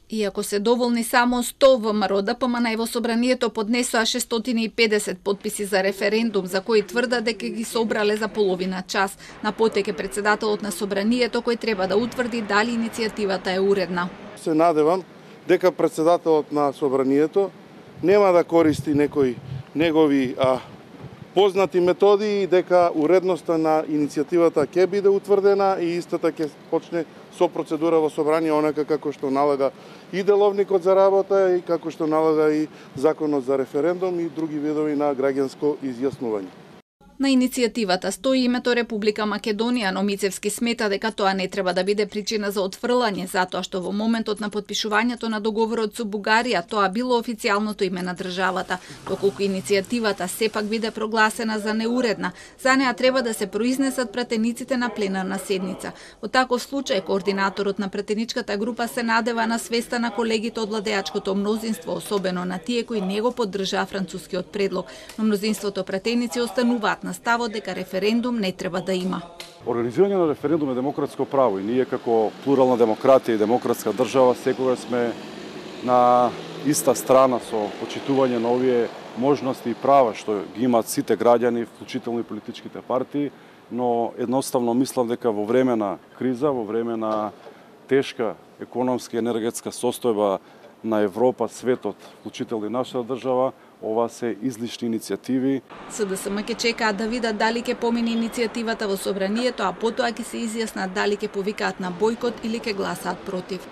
Иако се доволни само 100 ВМРО ДПМН во собранието поднесоа 650 подписи за референдум за кои тврдат дека ги собрале за половина час. На потек е председателот на собранието кој треба да утврди дали иницијативата е уредна. Се надевам дека председателот на собранието нема да користи некои негови познати методи и дека уредноста на иницијативата ќе биде утврдена и истата ќе почне со процедура во собрание онака како што налага и деловникот за работа и како што налага и законот за референдум и други видови на граѓанско изјаснување. На иницијативата стои името Република Македонија, но Мицевски смета дека тоа не треба да биде причина за отфрлање, затоа што во моментот на потпишувањето на договорот со Бугарија тоа било официјалното име на државата. Доколку иницијативата сепак биде прогласена за неуредна, за неа треба да се произнесат пратениците на пленарна седница. Во таков случај, координаторот на пратеничката група се надева на свеста на колегите од владеачкото мнозинство, особено на тие кои не го поддржаа францускиот предлог, но мнозинството пратеници остануваат на ставот дека референдум не треба да има. Организирање на референдум е демократско право и ние како плурална демократија и демократска држава секогаш сме на иста страна со почитување на овие можности и права што ги имаат сите граѓани, вклучително и политичките партии, но едноставно мислам дека во време на криза, во време на тешка економска и енергетска состојба на Европа, светот, вклучително и нашата држава, ова се излишни иницијативи. СДСМ ќе чекаат да видат дали ќе помине иницијативата во собранието, а потоа ќе се изјаснат дали ќе повикаат на бојкот или ќе гласаат против.